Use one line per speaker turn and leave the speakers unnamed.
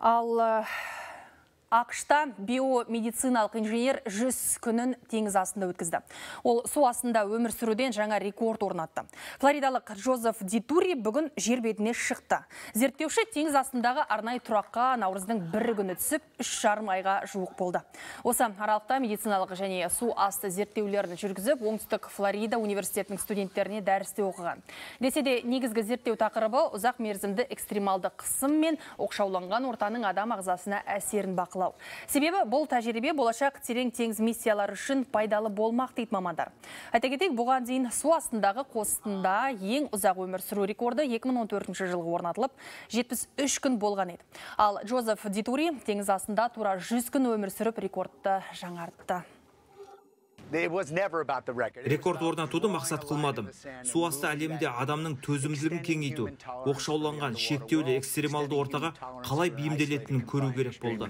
Ал ақшта биомедициналық инженер 100 күнін теңіз астында өткізді. Ол су астында өмір сүруден жаңа рекорд орнатты. Флоридалық Джозеф Дитури бүгін жер бетіне шықты. Зерттеуші теңіз астындағы арнайы тұраққа наурыздың 1 күні түсіп, 3,5 айға жуық болды. Осы аралықта медициналық және су асты зерттеулерін жүргізіп, оңтүстік Флорида университетінің студенттеріне дәрісте оқыған. Десе де негізгі зерттеу тақырыбы ұзақ мерзімді экстремалды қысым мен оқшауланған ортаның адам ағзасына әсерін бақылау. Себебі бұл тәжірибе болашақ терең теңіз миссиялары үшін пайдалы болмақ дейді мамандар. Айта кетейік, бұған дейін су астындағы қосында ең ұзақ өмір сүру рекорды 2014 жылғы орнатылып, 73 күн болған еді. Ал Джозеф Дитури теңіз астында тура 100 күн өмір сүріп рекордты жаңартты.
Рекорд орнатуды мақсат қылмадым. Су асты әлемде адамның төзімділігін кеңейту, оқшауланған шектеулі экстремалды ортаға қалай бейімделетінін көру керек болды.